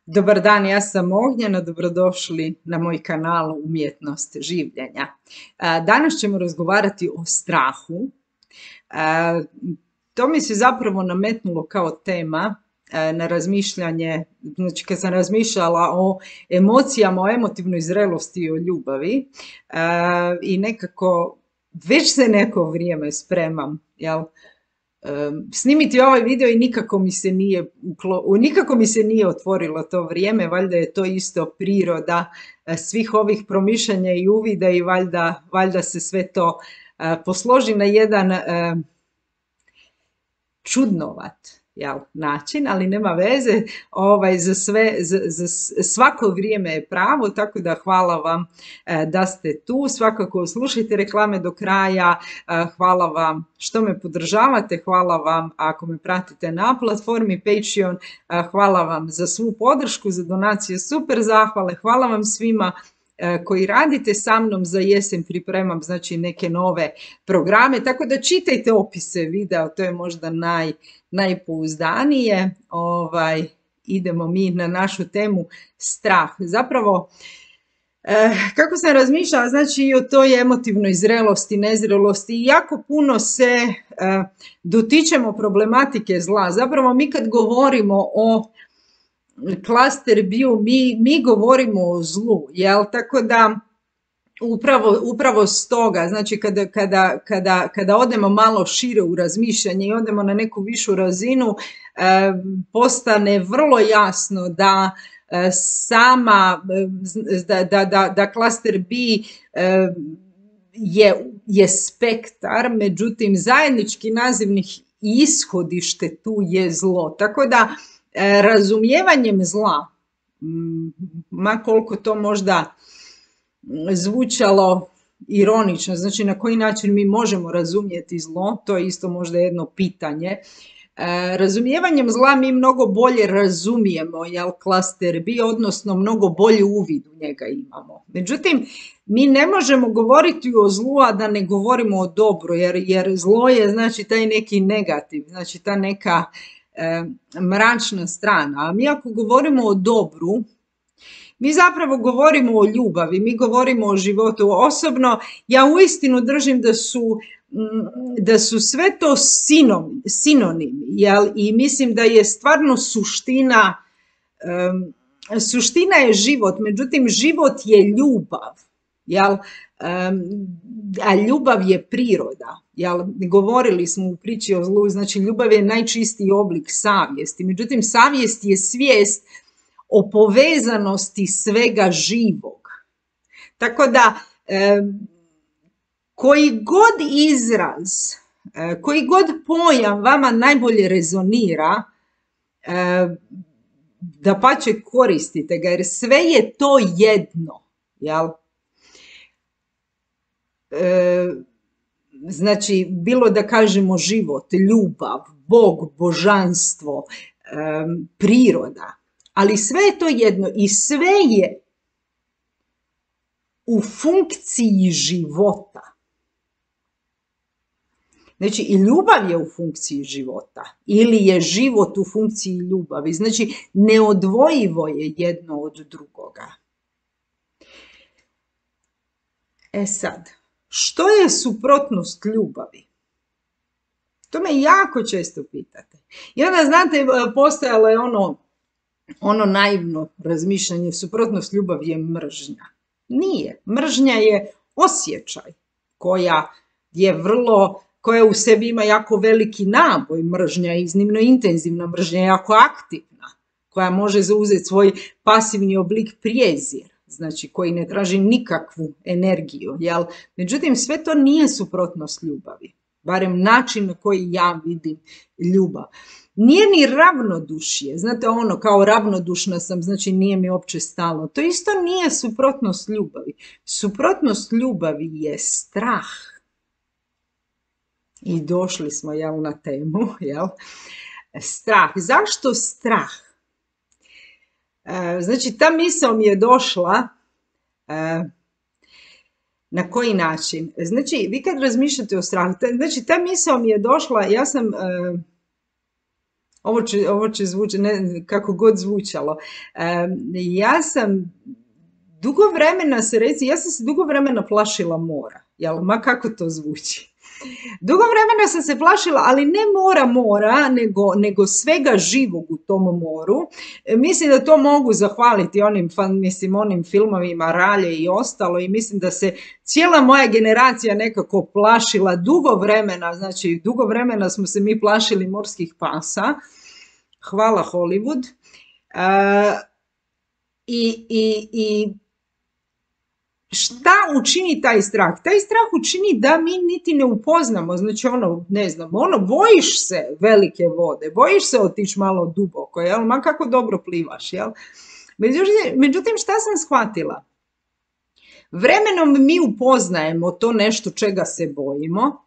Dobar dan, ja sam Ognjena, dobrodošli na moj kanal Umjetnost življenja. Danas ćemo razgovarati o strahu. To mi se zapravo nametnulo kao tema na razmišljanje, znači kad sam razmišljala o emocijama, o emotivnoj zrelosti i o ljubavi i nekako već se neko vrijeme spremam, jel? Snimiti ovaj video i nikako mi se nije otvorilo to vrijeme, valjda je to isto priroda svih ovih promišljanja i uvida i valjda se sve to posloži na jedan čudnovat način, ali nema veze, za svako vrijeme je pravo, tako da hvala vam da ste tu, svakako slušajte reklame do kraja, hvala vam što me podržavate, hvala vam ako me pratite na platformi Patreon, hvala vam za svu podršku, za donacije, super zahvale, hvala vam svima koji radite sa mnom. Za jesen pripremam znači neke nove programe, tako da čitajte opise videa, to je možda najpouzdanije. Idemo mi na našu temu strah. Zapravo, kako sam razmišljala, znači i o toj emotivnoj zrelosti, nezrelosti, i jako puno se dotičemo problematike zla. Zapravo mi kad govorimo o klaster bio, mi govorimo o zlu, jel? Tako da upravo stoga, znači kada odemo malo šire u razmišljanje i odemo na neku višu razinu, postane vrlo jasno da da klaster B je spektar, međutim zajednički nazivnik i ishodište tu je zlo. Tako da razumijevanjem zla, ma koliko to možda zvučalo ironično, znači na koji način mi možemo razumjeti zlo, to je isto možda jedno pitanje. Razumijevanjem zla mi mnogo bolje razumijemo, jel, klaster B, odnosno mnogo bolji uvid u njega imamo. Međutim, mi ne možemo govoriti o zlu, a da ne govorimo o dobru, jer zlo je znači taj neki negativ, znači ta neka mračna strana. A mi ako govorimo o dobru, mi zapravo govorimo o ljubavi, mi govorimo o životu. Osobno, ja uistinu držim da su sve to sinonimi, jel? I mislim da je stvarno suština je život, međutim život je ljubav, jel? A ljubav je priroda, jel? Govorili smo u priči o zlu, znači ljubav je najčistiji oblik savjesti, međutim savjest je svijest o povezanosti svega živog. Tako da koji god izraz, koji god pojam vama najbolje rezonira, dapače koristite ga, jer sve je to jedno, jel? Znači, bilo da kažemo život, ljubav, Bog, božanstvo, priroda, ali sve je to jedno i sve je u funkciji života. Znači, i ljubav je u funkciji života ili je život u funkciji ljubavi. Znači, neodvojivo je jedno od drugoga. E sad, što je suprotnost ljubavi? To me jako često pitate. I onda, znate, postojalo je ono naivno razmišljanje, suprotnost ljubavi je mržnja. Nije. Mržnja je osjećaj koja u sebi ima jako veliki naboj. Mržnja je iznimno intenzivna, mržnja je jako aktivna, koja može zauzeti svoj pasivni oblik prijezir, znači koji ne traži nikakvu energiju, jel? Međutim, sve to nije suprotnost ljubavi, barem način na koji ja vidim ljubav. Nije ni ravnodušje, znate kao ravnodušna sam, znači nije mi uopće stalo. To isto nije suprotnost ljubavi. Suprotnost ljubavi je strah. I došli smo, jel, na temu, jel? Strah. Zašto strah? Znači, ta misao mi je došla, na koji način? Znači, vi kad razmišljate o strahu, znači, ta misao mi je došla, ja sam Ovo će zvuči, kako god zvučalo. Ja sam dugo vremena ja sam se dugo vremena plašila mora, jel, ma kako to zvuči. Dugo vremena sam se plašila, ali ne mora, nego svega živog u tom moru. Mislim da to mogu zahvaliti onim filmovima Ralje i ostalo, i mislim da se cijela moja generacija nekako plašila dugo vremena, znači dugo vremena smo se mi plašili morskih pasa. Hvala Hollywood. I šta učini taj strah? Taj strah učini da mi niti ne upoznamo, znači ne znam, bojiš se velike vode, bojiš se otići malo duboko, jel? Ma kako dobro plivaš, jel? Međutim, šta sam shvatila? Vremenom mi upoznajemo to nešto čega se bojimo,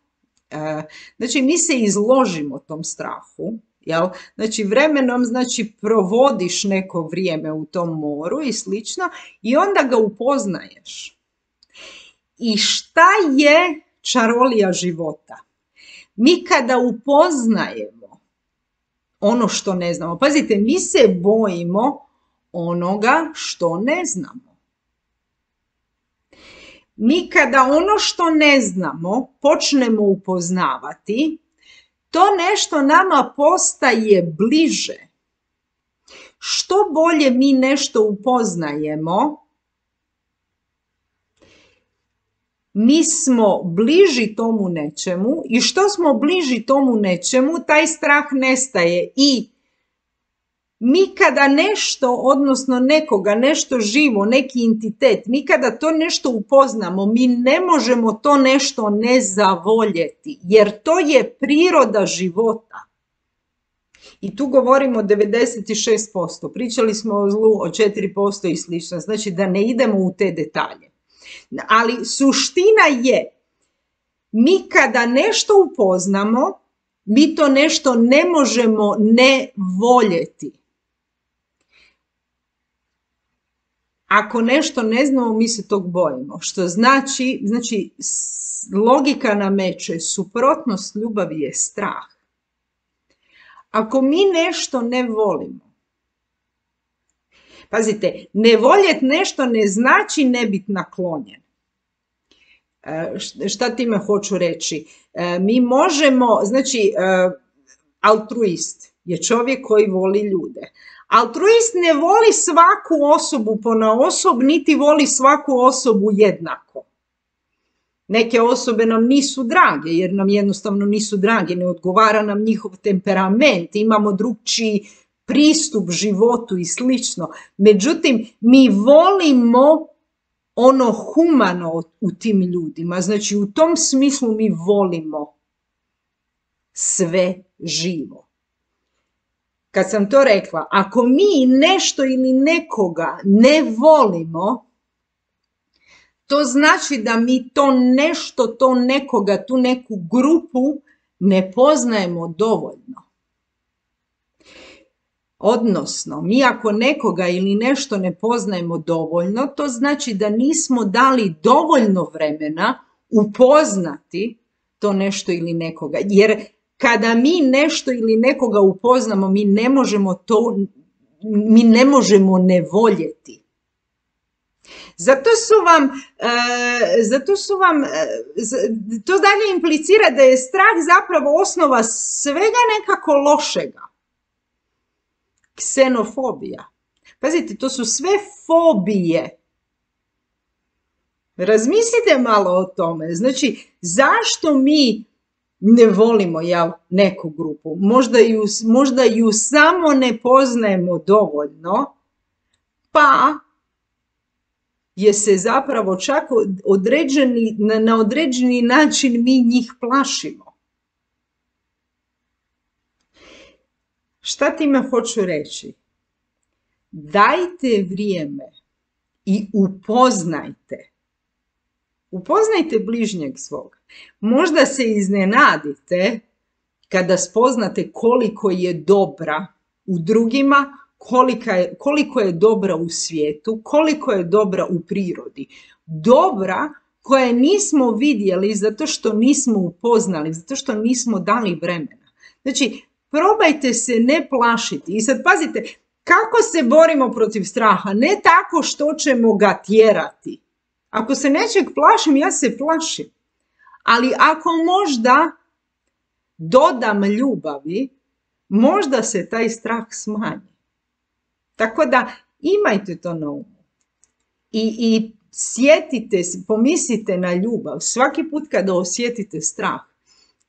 znači mi se izložimo tom strahu, jel? Znači vremenom, znači provodiš neko vrijeme u tom moru i slično i onda ga upoznaješ. I šta je čarolija života? Mi kada upoznajemo ono što ne znamo, pazite, mi se bojimo onoga što ne znamo. Mi kada ono što ne znamo počnemo upoznavati, to nešto nama postaje bliže. Što bolje mi nešto upoznajemo, mi smo bliži tomu nečemu, i što smo bliži tomu nečemu, taj strah nestaje. I mi kada nešto, odnosno nekoga, nešto živo, neki entitet, mi kada to nešto upoznamo, mi ne možemo to nešto ne zavoljeti, jer to je priroda života. I tu govorimo o 96%, pričali smo o zlu o 4% i slično, znači da ne idemo u te detalje. Ali suština je, mi kada nešto upoznamo, mi to nešto ne možemo ne voljeti. Ako nešto ne znamo, mi se tog bojimo. Što znači logika nameće, suprotnost ljubavi je strah. Ako mi nešto ne volimo, pazite, ne voljeti nešto ne znači ne biti naklonjen. Šta time hoću reći? Mi možemo, znači, altruist je čovjek koji voli ljude. Altruist ne voli svaku osobu ponaosob, niti voli svaku osobu jednako. Neke osobe nam nisu drage, jer nam jednostavno nisu drage, ne odgovara nam njihov temperament, imamo drugčiji pristup životu i slično. Međutim, mi volimo ono humano u tim ljudima, znači u tom smislu mi volimo sve živo. Kad sam to rekla, ako mi nešto ili nekoga ne volimo, to znači da mi to nešto, to nekoga, tu neku grupu ne poznajemo dovoljno. Odnosno, mi ako nekoga ili nešto ne poznajemo dovoljno, to znači da nismo dali dovoljno vremena upoznati to nešto ili nekoga. Jer kada mi nešto ili nekoga upoznamo, mi ne možemo ne voljeti. To dalje implicira da je strah zapravo osnova svega nekako lošega. Ksenofobija. Pazite, to su sve fobije. Razmislite malo o tome. Znači, zašto mi ne volimo neku grupu? Možda ju samo ne poznajemo dovoljno, pa je se zapravo čak na određeni način mi njih plašimo. Šta time hoću reći? Dajte vrijeme i upoznajte. Upoznajte bližnjeg svog. Možda se iznenadite kada spoznate koliko je dobra u drugima, koliko je dobra u svijetu, koliko je dobra u prirodi. Dobra koje nismo vidjeli zato što nismo upoznali, zato što nismo dali vremena. Znači, probajte se ne plašiti. I sad pazite, kako se borimo protiv straha? Ne tako što ćemo ga tjerati. Ako se nečeg plašim, ja se plašim. Ali ako možda dodam ljubavi, možda se taj strah smanji. Tako da imajte to na umu. I sjetite se, pomislite na ljubav. Svaki put kada osjetite strah,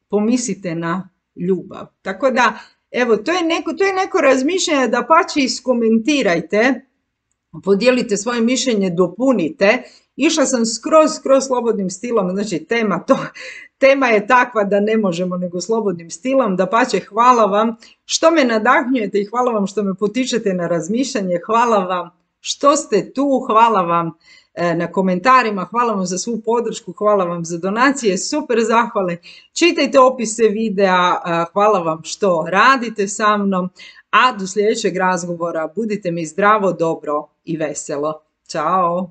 pomislite na ljubav. Tako da, evo, to je neko razmišljanje, dapače iskomentirajte, podijelite svoje mišljenje, dopunite. Išla sam skroz slobodnim stilom, znači tema je takva da ne možemo nego slobodnim stilom. Dapače, hvala vam što me nadahnjujete i hvala vam što me potičete na razmišljanje. Hvala vam što ste tu, hvala vam na komentarima, hvala vam za svu podršku, hvala vam za donacije, super zahvale. Čitajte opise videa, hvala vam što radite sa mnom, a do sljedećeg razgovora budite mi zdravo, dobro i veselo. Ćao!